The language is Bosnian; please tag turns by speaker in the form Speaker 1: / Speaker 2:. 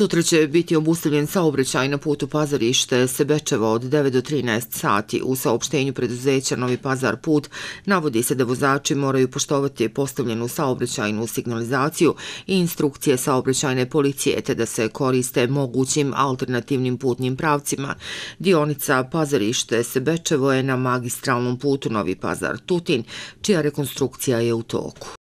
Speaker 1: Sutra će biti obustavljen saobraćaj na putu Pazarište Sebečevo od 9 do 13 sati. U saopštenju preduzeća Novi Pazar put navodi se da vozači moraju poštovati postavljenu saobraćajnu signalizaciju i instrukcije saobraćajne policije te da se koriste mogućim alternativnim putnim pravcima. Dionica Pazarište Sebečevo je na magistralnom putu Novi Pazar Tutin, čija rekonstrukcija je u toku.